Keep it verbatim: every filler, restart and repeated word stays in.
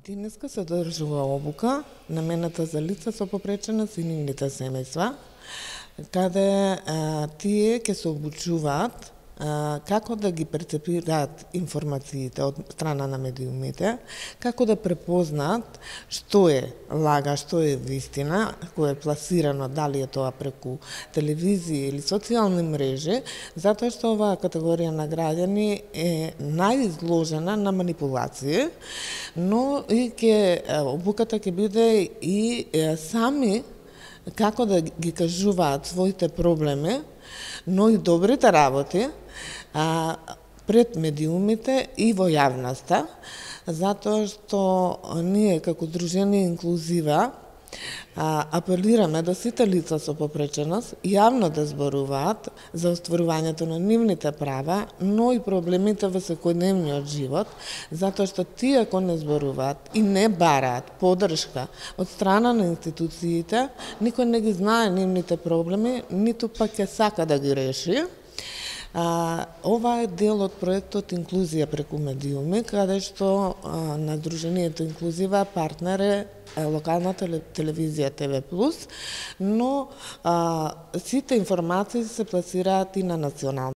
Денеска се одржува обука намената за лица со попреченост и нивните семејства, каде а, тие ќе се обучуваат а, како да ги перцепираат информациите од страна на медиумите, како да препознаат што е лага, што е вистина, кој е пласирано, дали е тоа преку телевизија или социјални мрежи, затоа што оваа категорија на граѓани е најизложена на манипулации, но и ќе обуката ќе биде и е, сами како да ги кажуваат своите проблеми, но и добрите работи а, пред медиумите и во јавноста, затоа што ние како Сдружение Инклузива а, апелираме до сите лица со попреченост јавно да зборуваат за остварувањето на нивните права, но и проблемите во секојдневниот живот, затоа што тие ако не зборуваат и не бараат поддршка од страна на институциите, никој не ги знае нивните проблеми, ниту пак ќе сака да ги реши. А, ова е дел од проектот Инклузија преку медиуми, каде што а, на Сдруженијето Инклузива партнер е локална телевизија Т В плюс, но а, сите информации се пласираат и на национално